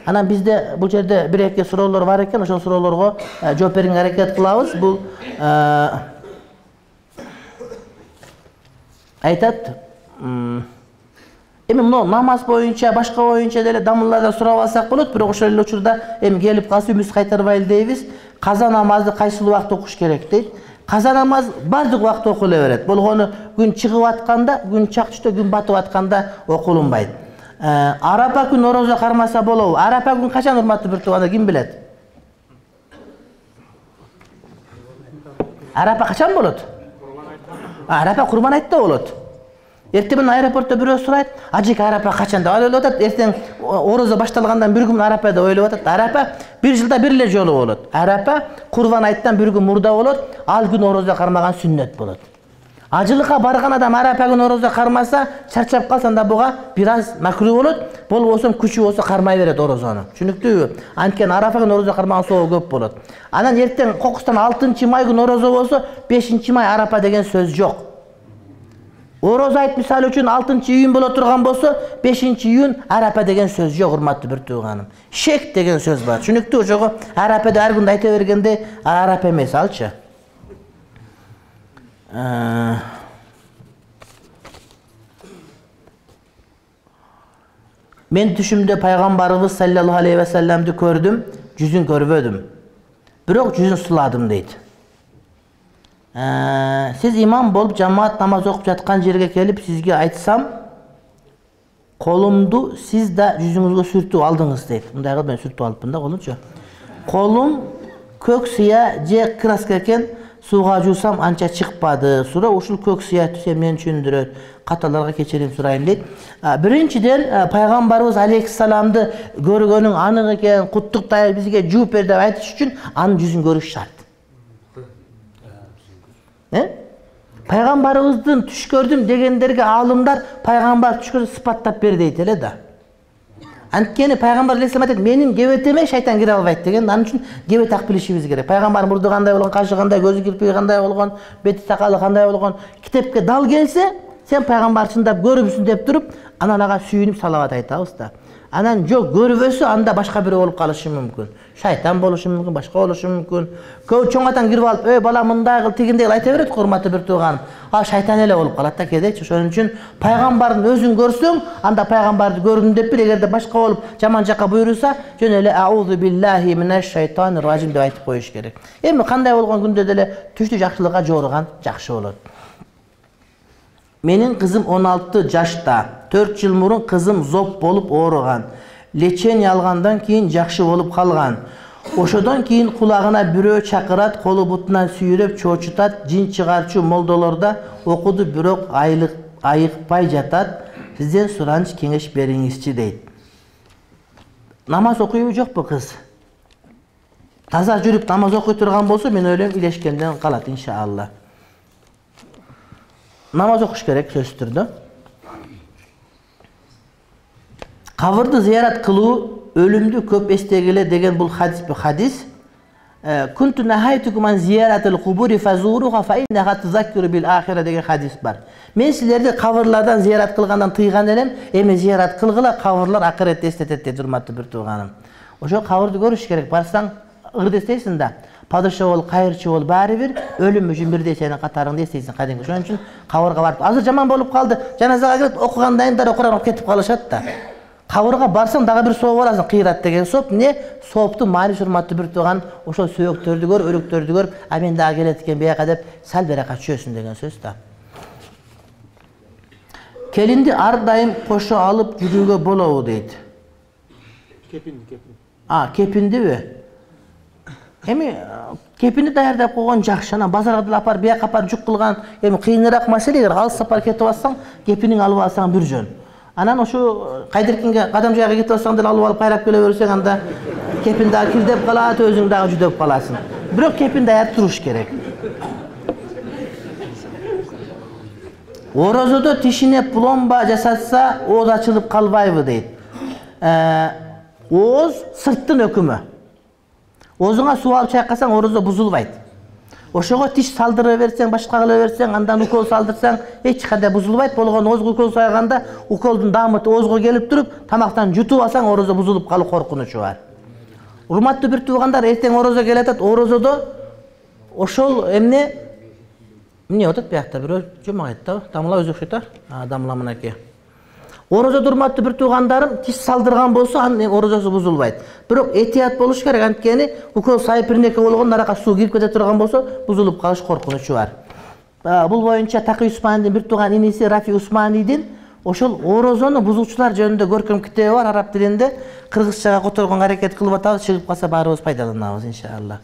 Анан бизде бул жерде бир-эки суроолор бар экен, ошол суроолорго жооп берүүгө аракет кылабыз. Бул айтат, эми мына намаз боюнча, башка боюнча деле дамылlardan сурап алсак болот, бирок ошол эле учурда эми келип калса үмүт кайтарбайлы дейбиз. Каза намазды кайсыл убакта окуш керек дейт. Каза намаз бардык убакта окуло берет. Болгону күн чыгып атканда, күн чак түштө, күн батып атканда окулунбайт. Арапа күн орозо кармаса болобу? Арапа күн качан урматтуу бир туугандар, ким билет? Арапа качан болот? Арапа Курбан айтта болот. Эртең менен аэропортто бирөө сурайт, ажеке Арапа качан деп ойлоп атат. Эртең орозо башталгандан бир күн Арапа деп ойлоп атат. Арапа бир жылда бир эле жолу болот. Арапа Курбан айттан бир күн мурда болот, ал күн орозо кармаган сүннөт болот. Ажылыкка барган адам Арапа күн орозо кармаса, чарчап калса анда буга бир аз макруу болот. Болбосо күчү болсо кармай берет орозону. Түшүнүктүүбү? Анткени Арапа күн орозо кармаган соого көп болот. Анан эртең кокустан 6-май күн орозо болсо, 5-май Арапа деген сөз жок. Орозо айт мисалы үчүн 6-июнь боло турган болсо, 5-июнь Арапа деген сөз жок, урматтуу бир тууганым. Шек деген сөз бар. Түшүнүктүү? Ошого Арапада ар күндө айта бергенде Арапа эмес алчы. Мен түшүмдө пайгамбарыбыз саллаллаху алейхи ва салламды көрдүм, жүзүн көрбөдүм. Бирок жүзүн суладым дейт. Сиз имам болуп жамаат намаз окуп жаткан жерге келип сизге айтсам, колумду сиз да жүзүңүзгө сүртүп алдыңыз дейт. Мындай кылып мен сүртүп алыпмын да колумчу. Колум көк сыя же краска экен, сууга жуусам анча чыкпады. Суроо ушул көк сыя түшө мени түшүндүрөт. Каталарга кечирим сурайм дейт. Биринчиден пайгамбарыбыз алейхиссаламды көргөнүң анык экен, куттуктайбыз, бизге жооп бер деп айтыш үчүн анын жүзүн көрүш шарт. Пайгамбарыбыздын түш көрдүм дегендерге алымдар пайгамбар түш көрүп сыпаттап бер дейт эле да. Анткени пайгамбар алейхиссалам айтат, менин кебетеме шайтан кире албайт деген. Анын үчүн кебет так билишибиз керек. Пайгамбар мурду кандай болгон, кашы кандай, көзү кирпиги кандай болгон, бети сакалы кандай болгон, китепке дал келсе, сен пайгамбар чындап көрүпсүң деп туруп, анан ага сүйүнүп салават айтабыз да. Анан жок көрбөсө, анда башка бирөө болуп калышы мүмкүн. Шайтан болушу мүмкүн, башка болушу мүмкүн. Көп чоң атаң кирип алып, "Эй бала, мындай кыл, тигиндей кыл" айта берет, урматтуу бир тууганым. Ал шайтан эле болуп калат да кедечи. Ошон үчүн пайгамбардын өзүн көрсөң, анда пайгамбарды көрдүм деп бил. Эгерде башка болуп жаман жакка буйруса, жөн эле аузу биллахи минаш шайтанир ражим деп айтып коюш керек. Эми кандай болгон күндө деле түштү жакшылыкка жорган жакшы болот. Менин кызым 16 жашта. 4 жыл мурун кызым зоб болуп ооруган. Лечение алгандан кийин жакшы болуп калган. Ошодон кийин кулагына бирөө чакырат, колу бутунан сүйрөп чоочутат, жин чыгарчу молдолорда окуду, бирок айыкпай жатат. Сизден сураныч кеңеш бериңизчи дейт. Намаз окуйбу жокпу кыз? Таза жүрүп намаз окуй турган болсо, мен ойлойм илешкенден калат иншалла. Намаз окуш керек сөзсүз түрдө. Кабырды зыярат кылуу өлүмдү көп эстегиле деген бул хадис. Кунту нахайтукум зияратыл кубури фазуруха фа иннаха тузаккиру бил ахира деген хадис бар. Мен силерди кабырлардан зыярат кылгандан тыйган элем, эми зыярат кылгыла, кабырлар акыретти эстетет дейт, урматтуу бир тууганым. Ошо кабырды көрүш керек. Барсаң ырды эстейсиң да. Падыша бол, кайырчы бол, баары бир өлүм үчүн бирдей сенин катарыңды эстейсиң кадимки. Ошон үчүн кабырга барып, азыр жаман болуп калды, жаназага кирип окугандайындар Куран окуп кетип калышат да. Кабырга барсаң дагы бир сооп аласың, кыйрат деген сооп. Не? Сооптун мааниси, урматтуу бир тууган, ошол сөөктөрдү көр, өлүктөрдү көрүп, а мен дагы келет экен бияка деп сал берака чөсүн деген сөз да. Келинди ар дайым кошо алып жүрүүгө болобу дейт. Кепиндиби? Эми кепинди даярдап койгон жакшы. Анан базарга деле апар, бияка апар жүк кылган, эми кыйыныраак маселе. Эгер алыс сапар кетип алсаң, кепиниң алып алсаң бир жөн. Анан ошо кайдыркинге кадам жайга кетип алсаң деле алып кайрап келе берсең, анда кепин дагы кирдеп калат, өзүң дагы жүдөп каласың. Бирок кепин даяр туруш керек. Орозодо тишине пломба жасатса, ооз ачылып калбайбы дейт. Ооз сырттын өкүмү. Оозуңа суу алып чайкасаң, орозо бузулбайт. Ошого тиш салдыра берсең, башка кыла берсең, андан укол салдырсаң, эч кандай бузулбайт. Болгон озго укол сайганда уколдун даамыты озго келип туруп, тамактан жутуп алсаң, орозо бузулуп калуу коркунучу бар. Урматтуу бир туугандар, эртең орозо келатат, орозодо ошол эмне атат биякта бирөө жомагайт да, дамла өзү окшойт да, дамла мынакей. Орозодо урматтуу бир туугандарым тиш салдырган болсо, анын орозосу бузулбайт. Бирок этият болуш керек, анткени укол сайып бир неке болгон аракка суу кирип кете турган болсо, бузулуп калыш коркунучу бар. Бул боюнча Такый Усмандын бир тууган иниси Рафи Усманидин ошол орозону бузуучулар жөнүндө көркөм китеби бар, араб тилинде. Кыргызчага которгонго аракет кылып атабыз, чыгып калса баарыбыз пайдаланабыз иншалла.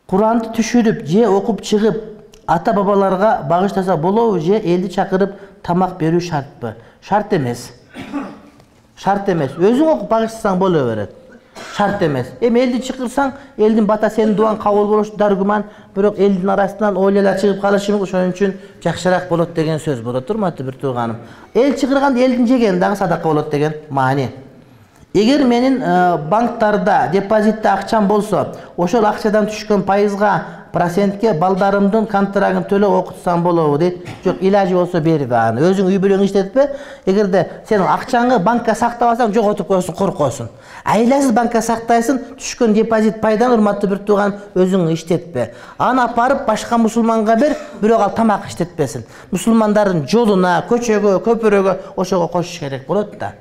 Куранды түшүрүп же окуп чыгып ата бабаларга багыштаса болобу же элди чакырып тамак берүү шартпы? Шарт эмес. Шарт эмес. Өзүң окуп багыштасаң боло берет. Шарт эмес. Эми элди чакырсаң, элдин бата сенин дуаң кабыл болушу даргуман, бирок элдин арасынан ойлолор чыгып калышы мүмкүн, ошон үчүн жакшыраак болот деген сөз болот, урматтуу бир тууганым. Эл чыгырганда элдин жегени дагы садака болот деген маани. Эгер менин банктарда депозитте акчам болсо, ошол акчадан түшкөн пайызга процентке балдарымдын контрагын төлөп окутсам болобу дейт. Жок, илажы болсо бербе аны. Өзүң үй бүлөң иштетпе. Эгерде сен акчаңы банкка сактабасаң, жоготуп коесуң, коркосуң. Айласыз банкка сактайсың, түшкөн депозит пайдан урматтуу бир тууган өзүң иштетпе. Аны апарып башка мусулманга бер, бирок ал тамак иштетпесин. Мусулмандардын жолуна, көчөгө, көпүрөгө ошого кошуш керек болот да.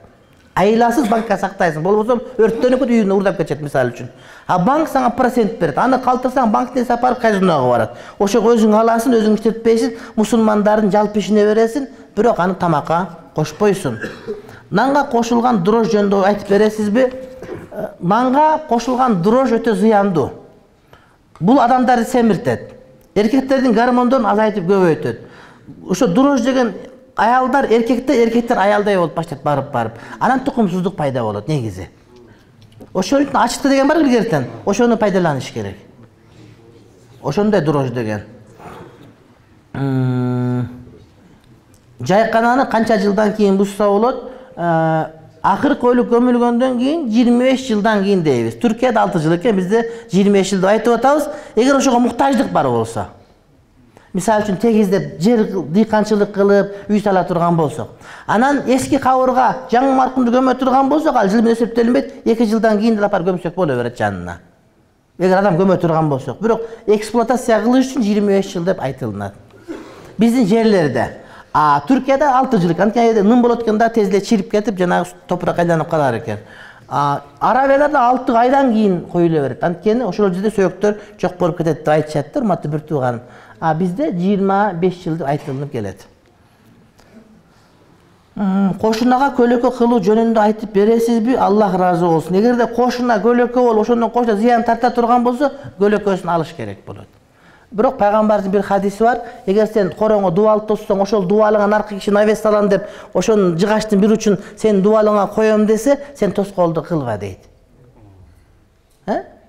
Айласыз банкка сактайсың, болбосо өрттөнүп кетип үйүнө урдап кетет мисалы үчүн. А банк сага процент берет. Аны калтырсаң, банктен сапарып казинога барат. Ошого өзүң аласың, өзүң иштетпейсиң, мусулмандардын жалпы ишине бересиң, бирок аны тамакка кошпойсуң. Нанга кошулган дрож жөнүндө айтып бересизби? Нанга кошулган дрож өтө зыяндуу. Бул адамдарды семиртет. Эркектердин гормондорун азайтып көбөйтөт. Ошо дрож деген аялдар эркектер аялдай болуп баштайт барып. Анан тукумсуздук пайда болот негизи. Ошон үчүн ачыкты деген бар илгертен. Ошону пайдаланыш керек. Ошондой дрож деген. Жайкананы канча жылдан кийин бузса болот? Акыркы өлүк көмүлгөндөн кийин 25 жылдан кийин дейбиз. Түркияда 6 жыл экен, бизде 25 жыл деп айтып атабыз. Эгер ошого муктаждык бар болсо, мисалы үчүн тегиздеп жер дыйканчылык кылып, үй сала турган болсок, анан эски кабырга жаңы маркумду көмө турган болсок, ал жыл менен эсептелинбейт, 2 жылдан кийин апар көмсөк боло берет жанына. Эгер адам көмө турган болсок, бирок эксплуатация кылыш үчүн 25 жыл деп айтылат. Биздин жерлерде Түркияда 6 жыл, анткени нын болот экен да, тез эле чирип кетип, жанагы топурак айланып калар экен. Арабияда 6 айдан кийин коюла берет. Анткени ошол жерде сөйөктөр жок болуп кетет деп айтышат, урматтуу бир тууганым. Бизде 25 жыл деп айтылып келет. Кошунага көлөкө кылуу жөнүндө айтып бересизби? Аллах ыраазы болсун. Эгерде кошуна көлөкө болуп, ошондон кошуна зыян тарта турган болсо, көлөкөсүн алыш керек болот. Бирок пайгамбардын бир хадиси бар. Эгер сен короңо дубал тоссоң, ошол дубалыңа наркы киши навес салам деп, ошонун жыгачтын бир учун сен дубалыңа коем десе, сен тоскоолдук кылба дейт.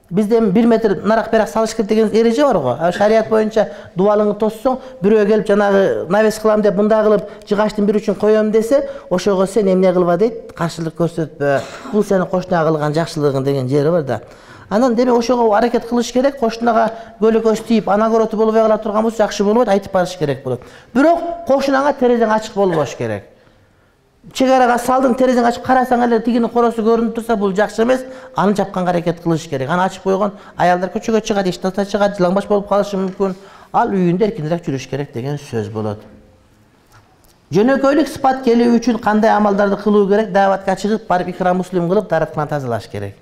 Бизде 1 метр нарак берак салыш керек деген эреже бар го. Шарият боюнча дубалыңы тоссоң, бирөө келип жанагы навес кылам деп, мындай кылып жыгачтын бир учун коем десе, ошого сен эмне кылба дейт, каршылык көрсөтпө. Бул сенин кошунага кылган жакшылыгың деген жери бар да. Анан деме ошого аракет кылыш керек, кошунага көлөкөс тийип, анагороты болбой кала турган болсо жакшы болбойт, айтып барыш керек болот. Бирок кошунаңа терезең ачык болбош керек. Чек арага салдың, терезең ачып карасаң эле тигинин коросу көрүнүп турса, бул жакшы эмес. Аны жапканга аракет кылыш керек. Аны ачып койгон аялдар көчөгө чыгат, эчтата чыгат, жылаңбаш болуп калышы мүмкүн. Ал үйүндө эркинирээк жүрүш керек деген сөз болот. Жөнөкөйлүк сыпат келүү үчүн кандай амалдарды кылуу керек? Дааватка чыгып, барып икра муслим кылып, дараткан тазалаш керек.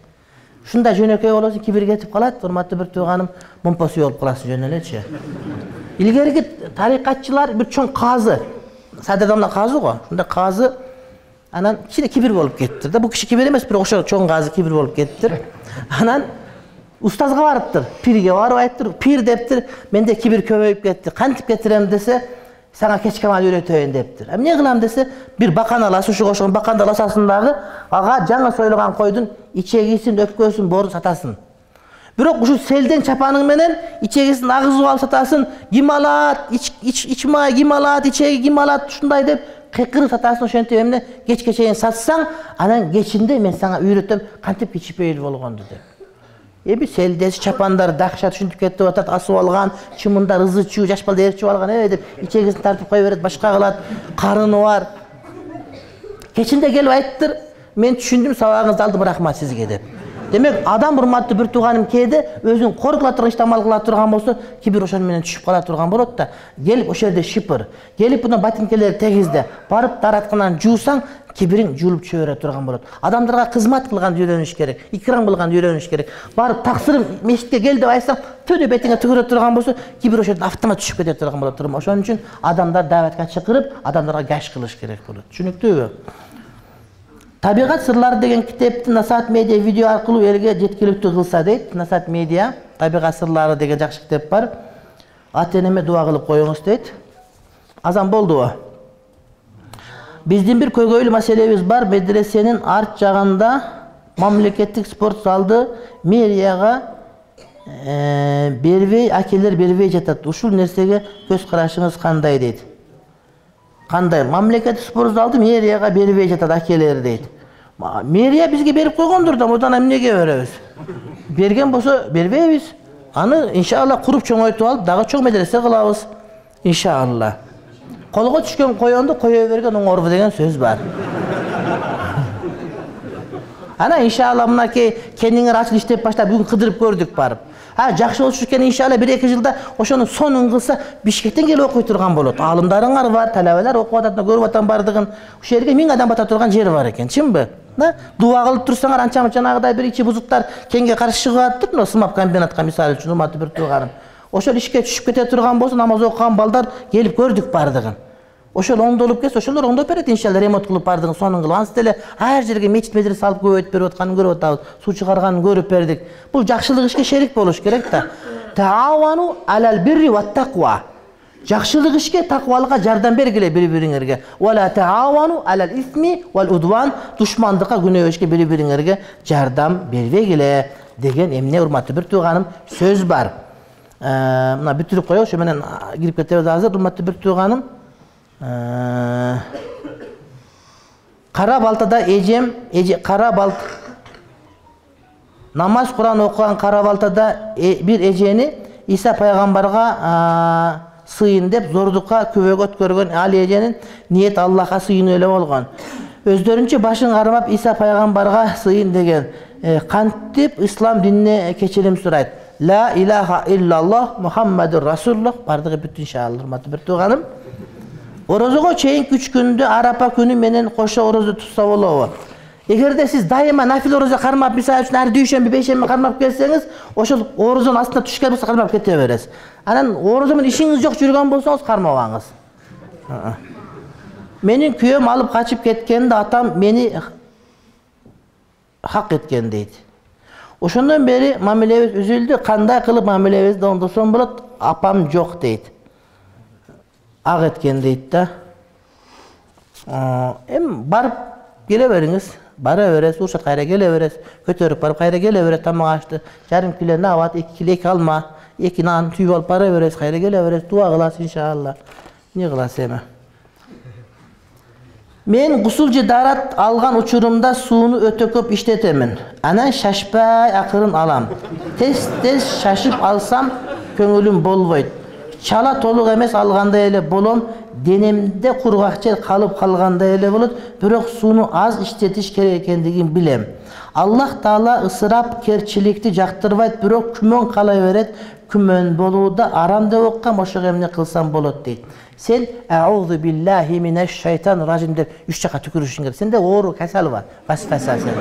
Ушундай жөнөкөй болосуң, кибир кетип калат, урматтуу бир тууганым, момпосу болуп каласың жөн элечи. Илгерки тарикатчылар бир чоң казы, Садырдамда казы го, ушундай казы анан кичине кибир болуп кеттир да. Бул киши кибир эмес, бирок ошо чоң казы кибир болуп кеттир. Анан устазга барыптыр, пирге барып айттыр, пир дептир, менде кибир көбөйүп кетти. Кантип кетирем десе, сага кечки амал үйрөтөйүн дептир. Эмне кылам десе, бир бакан аласың, ошого ошон баканды аласың дагы, ага жаңы сойлогон койдун ичегисин, өпкөсүн, боорун сатасың. Бирок ушу селден чапаның менен ичегисин агызып алып сатасың, ким алат, ичмай ким алат, ичеги ким алат, ушундай деп кыйкырып сатасың, ошентип эмне кечке чейин сатсаң, анан кечинде мен сага үйрөтөм кантип кичипейил болгонду деп. Эми селдеси чапандар дакша түшүнүп кетип атат, асып алган, чымындар ызы чуу, жаш балдар ээрчип алган, деп ичегесин тартып кое берет, башка кылат, карыны бар. Кечинде келип айттыр, мен түшүндүм, сабагыңызды алдым, рахмат сизге деп. Демек, адам урматтуу бир тууганым кээде өзүн кор кыла турган иштамал кыла турган болсо, кибир ошону менен түшүп кала турган болот да. Келип ошол жерде шипыр, келип мына ботинкелерди тегизде, барып таратканан жуусаң, кибириң жуулуп чыга бере турган болот. Адамдарга кызмат кылганды үйрөнүш керек, икрам кылганды үйрөнүш керек. Барып таксырым мешитке кел деп айтсаң, төдө бетиңе түгүрө турган болсо, кибир ошол жерден автомат түшүп кете турган болот. Ошон үчүн адамдар дааватка чакырып, адамдарга каш кылыш керек болот. Түшүнүктүүбү? Табигат сырлары деген китепти Насаат медиа видео аркылуу элге жеткиликтүү кылса дейт. Насаат медиа табигат сырлары деген жакшы китеп бар. Ата-энеме дуа кылып коюңуз дейт. Азан болдубу? Биздин бир көйгөйлүү маселебиз бар. Медресенин арт жагында мамлекеттик спорт залды мэрияга бербей, акелер бербей жатат. Ушул нерсеге көз карашыңыз кандай дейт. Кандай? Мамлекеттик спорт залды мэрияга бербей жатат акелер дейт. Мэрия бизге берип койгондур да, мындан эмнеге беребиз? Берген болсо бербейбиз. Аны иншалла куруп чоңойтуп алып, дагы чоң медресе кылабыз. Иншалла. Колго түшкөн коёнду кое берген оңорбу деген сөз бар. Ана иншалла мынакей кениңер ачылып иштеп баштап бүгүн кыдырып көрдүк барып. Жакшы болуш экен иншалла 1-2 жылда ошонун сонун кылса Бишкектен келип окуй турган болот. Алымдарыңар бар, талабалар окуп атат, көрүп атам бардыгын. Ошол жерге 1000 адам бата турган жер бар экен, чынбы? Дуа кылып турсаңар анча жанагыдай бир ичи бузуктар кеңге каршы чыгып атып, мына сымап комбинатка мисалы үчүн урматтуу бир тууганым. Ошол ишке түшүп кете турган болсо, намаз окуган балдар келип көрдүк бардыгын. Ошол оңдолуп кетсе, ошолор оңдоп берет иншалла, ремонт кылып бардыгын сонун кылып. Ансы деле ар жерге мечит медресе салып көбөйтүп берип атканын көрүп атабыз. Суу чыгарганын көрүп бердик. Бул жакшылык ишке шерик болуш керек да. Таавану алал бирри ва тақва. Жакшылык ишке, таквалыкка жардам бергиле бири-бириңерге. Вала таавану алал исми вал удван. Душмандыкка, күнөө ишке бири-бириңерге жардам бербегиле деген эмне урматтуу бир тууганым сөз бар. Мына бүтүрүп коелу, ошо менен кирип кетебиз азыр. Урматтуу бир тууганым, кара балтада эжем, кара балт намаз Куран окуган кара балтада бир эжени Иса пайгамбарга сыйын деп зордукка күбөгөт көргөн ал эженин ниет Аллахка сыйынуу эле болгон. Өздөрүнчө башын кармап Иса пайгамбарга сыйын деген. Кантип ислам динине кечирим сурайт. Ла илаха иллаллах Мухаммадур Расулуллах бардыгы бүт иншалла. Урматтуу бир тууганым, орозого чейинки 3 күндү арапа күнү менен кошо орозо тутса болобу? Эгерде сиз дайыма нафил орозо кармап, мисалы үчүн ар дүйшөмбү, бейшемби кармап келсеңиз, ошол орозонун астына түшкөн болсо кармап кете бересиз. Анан орозо менен ишиңиз жок жүргөн болсоңуз кармабаңыз. Менин күйөөм алып качып кеткенде атам мени хак эткен дейт. Ошондон бери мамилебиз үзүлдү. Кандай кылып мамилебизди оңдосом болот? Апам жок дейт. Ак эткен дейт да. Эми барып келе бериңиз. Бара бересиз, урушат кайра келе бересиз. Көтөрүп барып кайра келе берет, тамак ашты. Жарым кило набат, 2 кило 2 алма, 2 нан түйүп алып бара бересиз, кайра келе бересиз. Дуа кыласыз иншалла. Не кыласыз эми? Мен гусул же дарат алган учурумда сууну өтө көп иштетемин. Анан шашпай акырын алам. Тез шашып алсам көңүлүм болбойт. Чала толук эмес алгандай эле болом. Денемде кургак жер калып калгандай эле болот. Бирок сууну аз иштетиш керек экендигин билем. Аллах Таала ысырап керчиликти жактырбайт, бирок күмөн кала берет. Күмөн болууда арам деп оккам, ошого эмне кылсам болот дейт. Сен аузу биллахи минеш шайтан ражим деп 3 жака түкүрүшүң керек. Сенде оору касал бар. Васфаса сенде.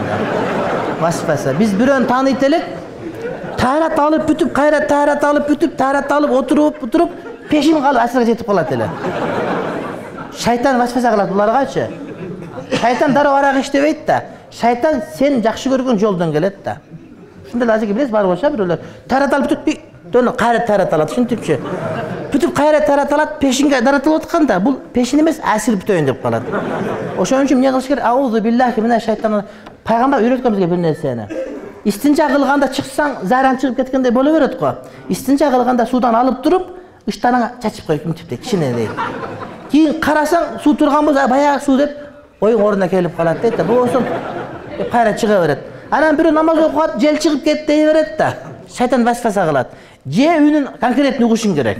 Васфаса. Биз бирөөнү тааныйт элек. Таарат алып бүтүп, кайра таарат алып бүтүп, таарат алып отуруп, пешин калып асырга жетип калат эле. Шайтан васфаса кылат буларгачы. Шайтан дароо арак иштебейт да. Шайтан сен жакшы көргөн жолдон келет да. Ушундай азыр билесиз бар болчу бирөөлөр. Таарат алып бүтүп, дөөнө кайра таарат алат, ушинтипчи. Бүтүп кайра таарат алат, пешинге даратылып атканда, бул пешин эмес, асыр бүтөйүн деп калат. Ошон үчүн эмне кылыш керек? Аузу биллахи минеш шайтан. Пайгамбар үйрөткөн бизге бир нерсени. Истинжа кылганда чыксаң, заран чыгып кеткендей боло берет го. Истинжа кылганда суудан алып туруп, ыштаныңа чачып коюп мынтип кичине дейт. Кийин карасаң, суу турган болсо, баягы суу деп оюң ордуна келип калат дейт да. Болсо кайра чыга берет. Анан бирөө намаз окуп жел чыгып кетти дей берет да. Шайтан васваса кылат. Же үнүн конкретно угушуң керек.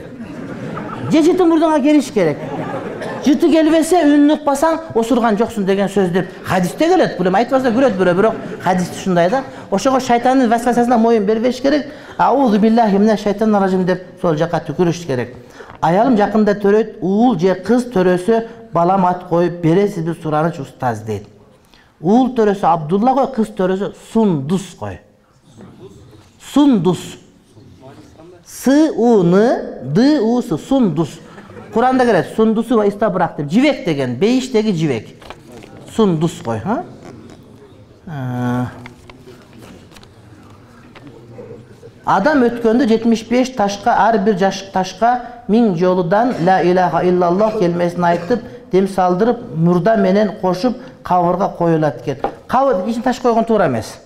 Же жыты мурдуңа келиш керек. Жыты келбесе үнүн укпасаң осурган жоксуң деген сөз деп хадисте келет. Бул эми айтпаса көрөт бирок хадис ушундай да. Ошого шайтандын васвасасына моюн бербеш керек. Аузу биллахи минаш шайтанир ражим деп сол жака түкүрүш керек. Аялым жакында төрөйт, уул же кыз төрөсө балам ат коюп бересизби сураныч устаз дейт. Уул төрөсө Абдулла кой, кыз төрөсө Сундус кой. Сундус. С-у-н-д-у-с, Сундус. Куранда келет, Сундусу ва истабрак деп, жибек деген, бейиштеги жибек. Сундус кой, ха? Адам өткөндө 75 ташка, ар бир ташка 1000 жолудан ла илаха иллаллах келмесин айтып, дем салдырып, мурда менен кошуп кабырга коюлат экен. Кабыр ичине таш койгон туура эмес.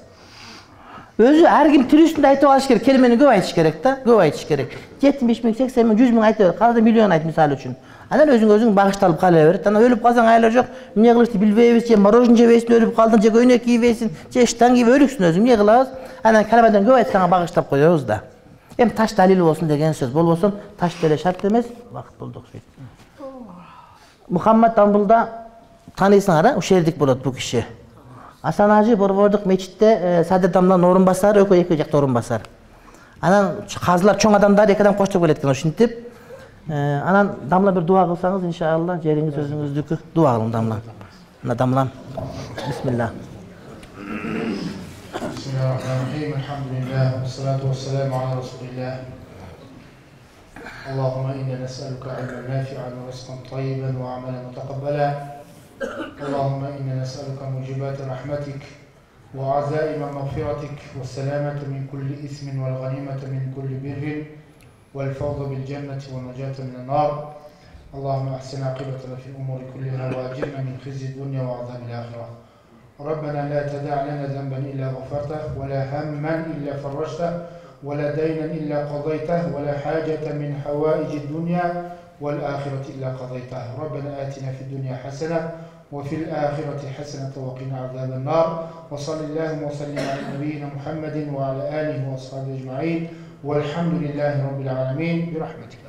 Өзү ар ким тирүүсүндө айтып алыш керек, келмени көп айтыш керек да, көп айтыш керек. 70 000, 80 000, 100 000 айтып, калды миллион айт мисалы үчүн. Анан өзүң багышталып кала берет. Анан өлүп калсаң айла жок, эмне кылышты билбейбиз, же мороженое жебейсиң, өлүп калдың, же көйнөк кийбейсиң, же штан кийип өлүксүң өзүң, эмне кылабыз? Анан калбадан көп айтсаң багыштап коебуз да. Эми таш далил болсун деген сөз. Болбосо таш деле шарт эмес, вакыт болду окшойт. Мухаммад Амбулда таанысыңар, ушердик болот бул киши. Асан Ажы Борбордук мечитте Садыр Дамланын орун басары, экөө эки жакта орун басар. Анан казылар чоң адамдар эки адам коштоп келет экен ушинтип. Анан Дамла бир дуа кылсаңыз, иншалла, жериңиз өзүңүздүкү. Дуа кылың Дамла. Мына Дамлам. Бисмилlah. Bismillahirrahmanirrahim. Alhamdulillah. Wassalatu wassalamu ala Rasulillah. Allahumma inna nas'aluka 'ilman nafi'an wa rizqan tayyiban wa 'amalan mutaqabbalan. اللهم إنا نسألك موجبات رحمتك وعزائم مغفرتك والسلامة من كل إثم والغنيمة من كل بر والفوز بالجنة والنجاة من النار. اللهم أحسن عاقبتنا في الأمور كلها وأجرنا من خزي الدنيا وعذاب الآخرة. ربنا لا تدع لنا ذنبا إلا غفرته ولا هما إلا فرجته ولا دينا إلا قضيته ولا حاجة من حوائج الدنيا والآخرة إلا قضيتها. ربنا آتنا في الدنيا حسنة وفي الآخرة حسنة وقنا عذاب النار. وصل اللهم وسلم على نبينا محمد وعلى آله وأصحابه أجمعين والحمد لله رب العالمين برحمتك.